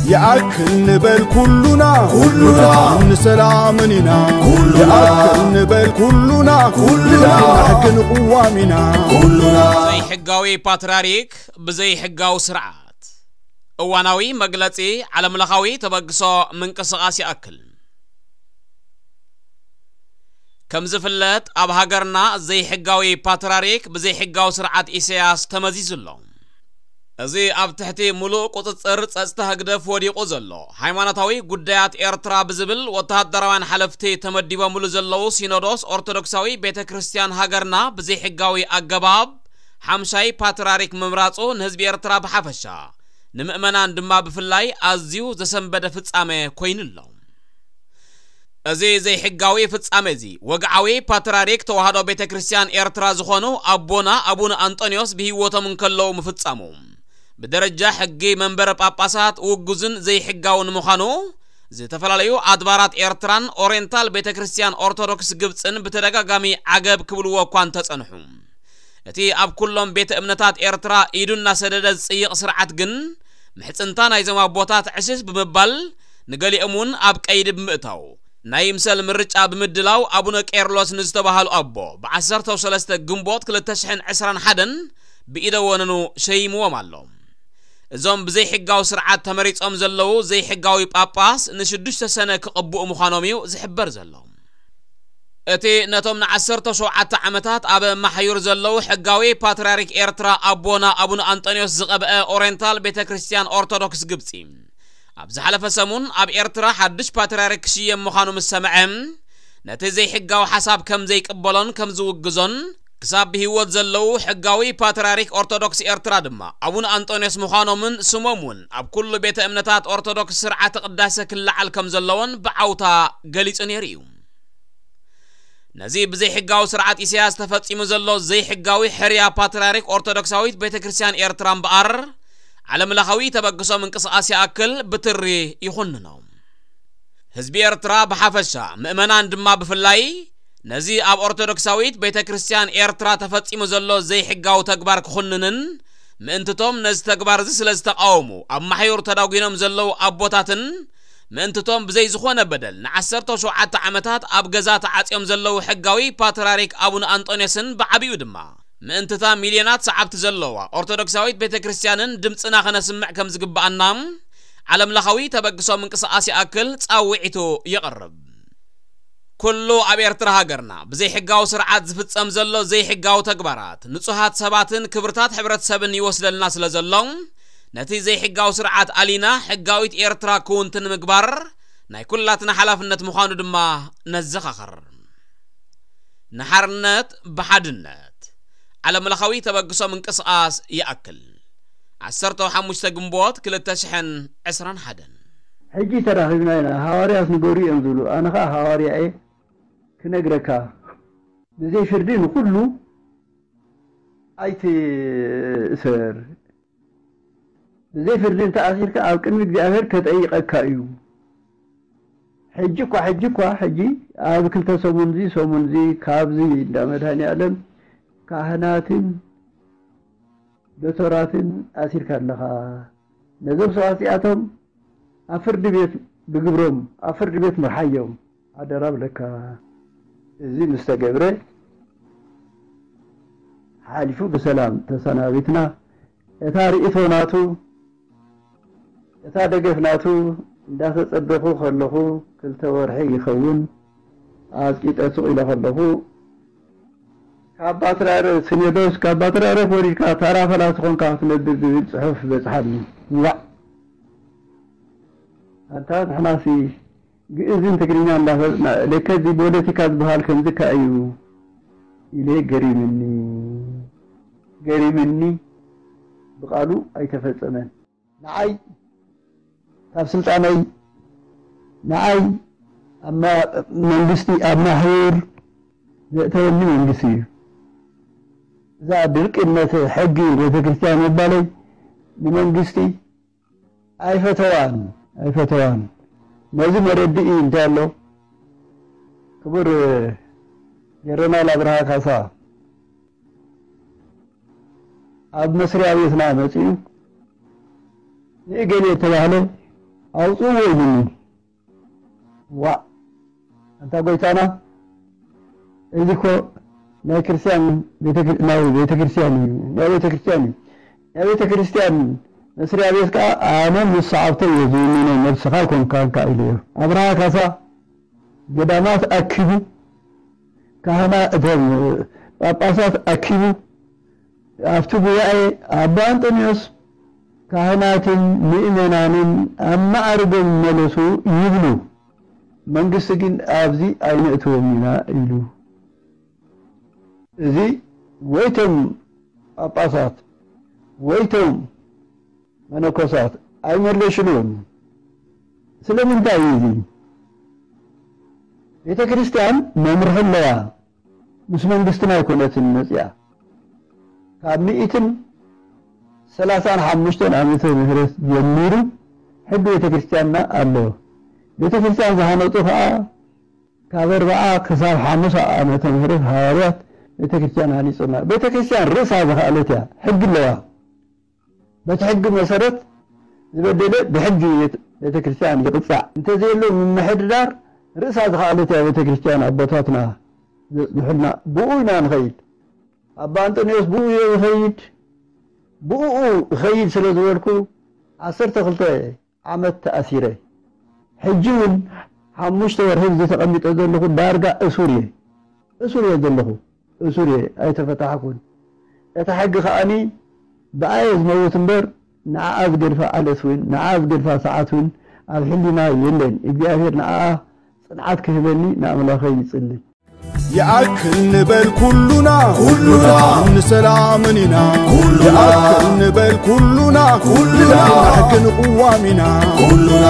ይኣክል ንበል ኩሉና፣ ኩሉና። ንሰላምን ኢና። ኩሉና። ይኣክል ንበል ኩሉና፣ ኩሉና። ንሕግን ቅዋም ኢና። ኩሉና። ዘይሕጋዊ ፓትርያርክ ብዘይሕጋዊ ስርዓት። እዋናዊ መግለጺ ዓለምለኻዊ ተበግሶ ምንቅስቓስ ይኣክል። ከም ዝፍለጥ፣ ኣብ ሃገርና ዘይሕጋዊ ፓትርያርክ ብዘይሕጋዊ ስርዓት ኢሳያስ ተመዚዙ ኣሎ። እዚ ኣብ ትሕቲ ምሉእ ቁጽጽር ጸጥታ ህግደፍ ወዲቑ ዘሎ፣ ሃይማኖታዊ ጉዳያት ኤርትራ ብዝብል ወተሃደራውያን ሓለፍቲ ተመዲቦምሉ ዘለዉ፣ ሲኖዶስ ኦርቶዶክሳዊ ቤተ ክርስቲያን ሃገርና ብዘይሕጋዊ ኣገባብ ሓምሻይ ፓትርያርክ ምምራጹ ንህዝቢ ኤርትራ ብሓፈሻ፣ ንምእመናን ድማ ብፍላይ ኣዝዩ ዘሰንበደ ፍጻመ ኮይኑ ኣሎ። እዚ ዘይሕጋዊ ፍጻመ እዚ፣ ወግዓዊ ፓትርያርክ ተዋህዶ ቤተ ክርስቲያን ኤርትራ ዝኾኑ ኣቦና ኣቡነ ኣንጦንዮስ ብህይወቶም እንከለዉ ምፍጻሙ፣ ብደረጃ ሕጊ መንበረ ጳጳሳት ውጉዝን ዘይሕጋውን ምዃኑ፣ ዝተፈላለዩ ኣድባራት ኤርትራን ኦሪየንታል ቤተ ክርስቲያን ኦርቶዶክስ ግብጽን ብተደጋጋሚ ዓገብ ክብልዎ እኳ እንተጸንሑ፣ እቲ ኣብ ኩሎም ቤተ እምነታት ኤርትራ ኢዱ እናሰደደ ዝጽይቕ ስርዓት ግን፣ ምሕጽንታ ናይዞም ኣቦታት ዕሽሽ ብምባል፣ ንገሊኦም እውን ኣብ ቀይዲ ብምእታው፣ ናይ ይምሰል ምርጫ ብምድላው፣ ኣቡነ ቄርሎስ ንዝተባሃሉ ኣቦ፣ ብ ዓሰርተ ሰለስተ ግንቦት ክልተ ሽሕን ዕስራን ሓደን ብኢደ ወነኑ ሸይምዎም ኣሎ። እዞም ብዘይሕጋዊ ስርዓት ተመሪጾም ዘለዉ ዘይሕጋዊ ጳጳስ፣ ንሽዱሽተ ሰነ ክቕብኡ ምዃኖም እዩ ዝሕበር ዘሎ። እቲ ነቶም ንዓሰርተ ሸውዓተ ዓመታት ኣብ ማሕዩር ዘለዉ ሕጋዊ ፓትርያርክ ኤርትራ ኣቦና ኣቡነ ኣንጦንዮስ ዝቐብአ ኦሪየንታል ቤተ ክርስቲያን ኦርቶዶክስ ግብጺ፣ ኣብ ዝሓለፈ ሰሙን ኣብ ኤርትራ ሓድሽ ፓትርያርክ ክሽየም ምዃኑ ምስ ሰምዐ፣ ነቲ ዘይሕጋዊ ሓሳብ ከም ዘይቅበሎን ከም ዝውግዞን፣ ክሳብ ብህይወት ዘለዉ ሕጋዊ ፓትርያርክ ኦርቶዶክስ ኤርትራ ድማ ኣቡነ ኣንጦንዮስ ምዃኖምን ስሞም እውን ኣብ ኩሉ ቤተ እምነታት ኦርቶዶክስ ስርዓተ ቅዳሴ ክለዓል ከም ዘለዎን ብዓውታ ገሊጹ ነይሩ እዩ። ነዚ ብዘይሕጋዊ ስርዓት ኢሳያስ ተፈጺሙ ዘሎ ዘይሕጋዊ ሕርያ ፓትርያርክ ኦርቶዶክሳዊት ቤተ ክርስቲያን ኤርትራ እምበኣር፣ ዓለምለኻዊ ተበግሶ ምንቅስቓስ ይኣክል ብትሪ ይኹንኖ። ህዝቢ ኤርትራ ብሓፈሻ፣ ምእመናን ድማ ብፍላይ፣ ነዚ ኣብ ኦርቶዶክሳዊት ቤተ ክርስቲያን ኤርትራ ተፈጺሙ ዘሎ ዘይሕጋዊ ተግባር ክኹንንን፣ ምእንትቶም ነዚ ተግባር እዚ ስለ ዝተቃወሙ ኣብ ማሕዩር ተዳጒኖም ዘለዉ ኣቦታትን፣ ምእንትቶም ብዘይ ዝኾነ በደል ንዓሰርተ ሸውዓተ ዓመታት ኣብ ገዛ ተዓጽዮም ዘለዉ ሕጋዊ ፓትርያርክ ኣቡነ ኣንጦንዮስን ብዓቢኡ ድማ ምእንትታ ሚልዮናት ሰዓብቲ ዘለዋ ኦርቶዶክሳዊት ቤተ ክርስቲያንን ድምጽና ከነስምዕ ከም ዝግብኣና ዓለምለኻዊ ተበግሶ ምንቅስቓስ ይኣክል ጻውዒቱ የቕርብ። ኩሉ ኣብ ኤርትራ ሃገርና ብዘይሕጋዊ ስርዓት ዝፍጸም ዘሎ ዘይሕጋዊ ተግባራት ንጹሃት ሰባትን ክብርታት ሕብረተሰብን ይወስደልና ስለ ዘሎ፣ ነቲ ዘይሕጋዊ ስርዓት ኣሊና ሕጋዊት ኤርትራ ክውንቲ ንምግባር ናይ ኩላትና ሓላፍነት ምዃኑ ድማ ነዘኻኽር። ንሓርነት ብሓድነት። ዓለምለኻዊ ተበግሶ ምንቅስቓስ ይኣክል። ዓሰርተ ሓሙሽተ ግንቦት ክልተ ሽሕን ዕስራን ሓደን። ሕጂ ተራኺብና ኢና፣ ሃዋርያት ንገሩ እዮም ዝብሉ። ኣነ ኸኣ ሃዋርያ እየ፣ ክነግረካ። ብዘይ ፍርዲ ንኹሉ ኣይትእሰር። ብዘይ ፍርዲ እንተኣሲርካ ኣብ ቅድሚ እግዚኣብሔር ከጠይቐካ እዩ። ሕጂ እኳ፣ ሕጂ እኳ፣ ሕጂ ኣብ ክልተ ሰሙን እዚ፣ ሰሙን እዚ ካብዚ እንዳ መድኃኔዓለም ካህናትን ዶቶራትን ኣሲርካ ኣለኻ። ነዞም ሰባት እዚኣቶም ኣብ ፍርዲ ቤት ብግብሮም ኣብ ፍርዲ ቤት ምርሓዮም። ኣደራ ብለካ። እዚ ምስ ተገብረ ሓሊፉ ብሰላም ተሰናቢትና። እታ ርእይቶ ናቱ፣ እታ ደገፍ ናቱ እንዳተጸበኹ ከለኹ ክልተ ወርሒ ይኸውን። ኣጽቂጠ ስቕ ኢለ ከለኹ፣ ካብ ባትራረ ሲኖዶስ፣ ካብ ባትራረ ወሪድካ ታራ ፈላሲ ኾንካ ክትነብር ዝብል ጽሑፍ በጽሓኒ። ዋዕ! ኣንታ ንሕናሲ ግእዝን ትግርኛ እንዳፈለጥና፣ ለከ እዚ ፖለቲካ ዝበሃል ከምዚ ከ እዩ ኢለ ገሪምኒ። ገሪምኒ። ብቃሉ ኣይተፈጸመን። ንዓይ ካብ ስልጣነይ፣ ንዓይ ኣብ ማ-፣ መንግስቲ ኣብ ማሕዩር ዘእተወኒ መንግስቲ እዩ። እዛ ድርቅነት ሕጊ ቤተክርስትያን ምባለይ ንመንግስቲ ኣይፈተዋን፣ ኣይፈተዋን። ነዚ መረድኢ እንታይ ኣሎ? ክቡር ጀነራል ኣብርሃ ካሳ ኣብ መስሪያ ቤትና መጺኡ ንእገሌ የተባህለ ኣውፅዎ ኢሉኒ። ዋ ኣንታ ጎይታና፣ እዚ እኮ ናይ ክርስቲያን ቤተክር- ናይ ቤተክርስትያን እዩ፣ ናይ ቤተክርስትያን እዩ። ናይ ቤተክርስትያን መስሪያ ቤት ከዓ ኣነ ምስ ሰዓብተይ እየ ዝውንኖ፣ ነብስኻ ኣይኮንካን ከዓ ኢሉ እዩ። ኣብርሃ ካሳ ገዳማት ኣኪቡ፣ ካህና እቶም ጳጳሳት ኣኪቡ፣ ኣብቲ ጉባኤ ኣባ ኣንጦንዮስ ካህናትን ምእመናንን ኣብ ማዕርጎም ይመለሱ ይብሉ፣ መንግስቲ ግን ኣብዚ ኣይነእትዎም ኢና ኢሉ። እዚ ወይቶም ጳጳሳት ወይቶም መነኮሳት ኣይመለሽሉን። ስለምንታይ እዩ እዚ? ቤተ ክርስቲያን መምርሒ ኣለዋ። ምስ መንግስትና ኣይኮነትን መፅያ። ካብ ሚእትን ሰላሳን ሓሙሽተን ዓመተ ምህረት ጀሚሩ ሕጊ ቤተ ክርስቲያንና ኣሎ። ቤተ ክርስቲያን ዝሃነፁ ከዓ ካብ ኣርብዓ ክሳብ ሓሙሳ ዓመተ ምህረት ሃዋርያት ቤተ ክርስቲያን ሃኒፁና። ቤተ ክርስቲያን ርእሳ ዝኸኣለት እያ። ሕጊ ኣለዋ። በቲ ሕጊ መሰረት ዝበደለ ብሕጊ ቤተ ክርስቲያን ይቕፃዕ። እንተዘየሎ ምምሕድዳር ርእሳ ዝኸኣለት እያ ቤተ ክርስቲያን ኣቦታትና ዘፅንሑልና። ብኡ ኢና ንኸይድ። ኣባ ኣንጠንዮስ ብኡ እየ ዝኸይድ። ብኡ እኸይድ ስለ ዝበልኩ ዓሰርተ ክልተ ዓመት ተኣሲረ። ሕጂ እውን ሓሙሽተ ወርሒ እዚ ተቐሚጠ ዘለኹ ዳርጋ እሱር እየ። እሱር እየ ዘለኹ። እሱር እየ፣ ኣይተፈታሕኩን። እታ ሕጊ ከኣኒ ብኣየ ዝመውት እምበር ንዓኣ ዝገድፋ ዓለስ እውን ንዓኣ ዝገድፋ ሰዓት እውን ኣብ ሕሊና የለን። እግዚኣብሔር ንዓኣ ጽንዓት ክህበኒ ንኣምላኸይ ይጽሊ። ይኣክል ንበል ኩሉና፣ ኩሉና ንሰላምን ኢና። ኩሉና ይኣክል ንበል ኩሉና፣ ኩሉና ንሕግን ቅዋም ኢና። ኩሉና